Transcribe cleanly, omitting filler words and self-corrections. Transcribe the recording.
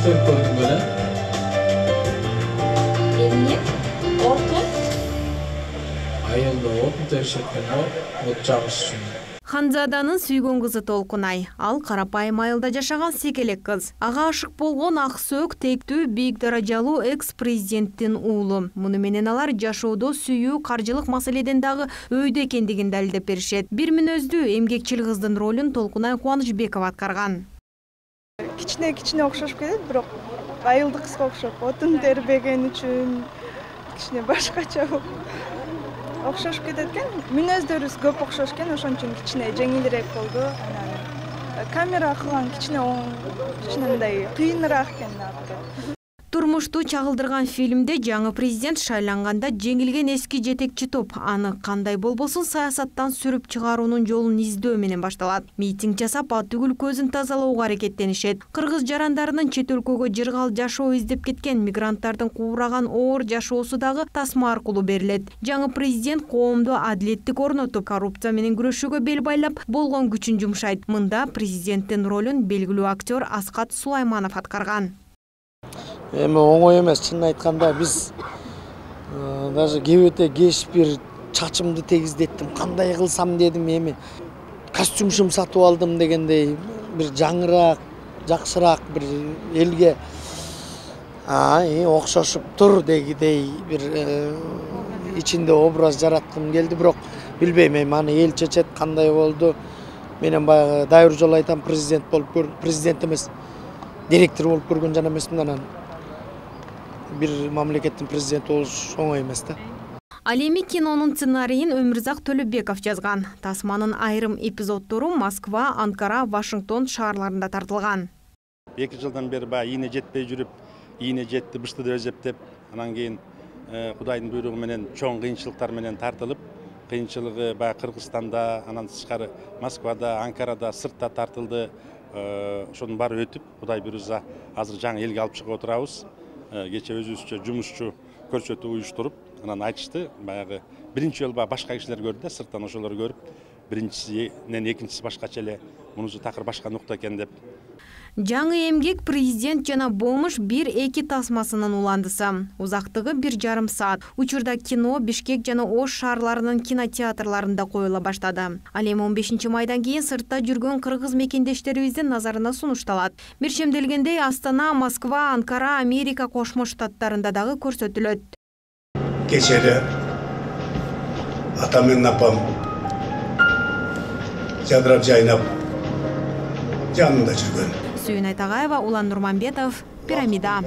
көрүп көрдүң беле? Эмне? Отун? Айылда отун теришет экен, от жагыш үчүн. Ханзаданын сүйгөн кызы Толкунай. Ал карапайым айылда жашаган секелек кыз. Ага ашык болгон Аксөөк тектүү бийик даражалуу экс-президенттин уулу. Муну менен алар жашоодо сүйүү, каржылык маселеден дагы өйдө экендигин далилдеп беришет. Бир мүнөздүү эмгекчил кыздын ролун Толкунай Кубанычбекова аткарган. Кичине окшошуп кетет, бирок айылдык кызга окшоп, отун тербеген үчүн кичине башкача окшошуп кетет экен. Мүнөздөрүбүз көп окшош экен, ошон үчүн кичине жеңилирээк болду. Анан камера кылган кичине мындай кыйыныраак экен. Турмушту чагылдырган фильмде жаңы президент шайланганда жеңилген эски жетекчи топ аны кандай болбосун саясаттан сүрүп чыгаруунун жолун издөө менен башталат. Митинг жасап, ат түгүл көзүн тазалоого аракеттенишет. Кыргыз жарандарынын чет өлкөгө жыргал жашоо издеп кеткен мигранттардын куураган оор жашоосу дагы тасма аркылуу берилет. Жаңы президент коомдо адилеттик орнотуп, коррупция менен күрөшүүгө бел байлап, болгон күчүн жумшайт. Мында президенттин ролун белгилүү актер Аскат Сулайманов аткарган. Эми оңой эмес, чынын айтканда биз даже кебете кеш бир чачымды тегиздеттим, кандай кылсам дедим, эми костюмшум сатып алдым дегендей бир жаңыраак, жакшыраак бир элге окшошуп тур дегидей бир ичинде образ жараткым келди, бирок билбейм, эми аны эл чечет кандай болду. Менен баягы дайыр жолу айтам, президент эмес, директор болуп көргөн жана эмесмин, анан бир мамлекеттин президенти болуш оңой эмес да. Ал эми кинонун сценарийин Өмүрзак Төлөбеков жазган. Тасманын айрым эпизоддору Москва, Анкара, Вашингтон шаарларында тартылган. 2 жылдан бери баягы ийне жетпей жүрүп, ийне жетти бышты деп эсептеп, анан кийин Кудайдын буйругу менен чоң кыйынчылыктар менен тартылып, кыйынчылыгы баягы Кыргызстанда, анан тышкары Москвада, Анкарада, сыртта тартылды. Ошонун баары өтүп, Кудай буйруса азыр жаңы элге алып чыгып отурабыз. Кече өзүбүзчө жумушчу көрсөтүү уюштуруп, анан айтышты, баягы биринчи жолу башка кишилер көрдү да, сырттан ошолор көрүп, биринчисинен экинчиси башкача эле, мунусу такыр башка нукта экен деп. Жаңы эмгек президент жана Бомуш 1-2 тасмасынын уландысы. Узактыгы 1,5 саат. Учурда кино Бишкек жана Ош шаарларынын кинотеатрларында коюла баштады. Ал эми 15 майдан кийин сыртта жүргөн кыргыз мекендештерибиздин назарына сунушталат. Биршемделгендей Астана, Москва, Анкара, Америка Кошмо Штаттарында дагы көрсөтүлөт. Кечеде атам менен апам жадырап жайнап жанында жүргөн. Сүйүн Айтагаева, Улан Нурманбетов, Пирамида.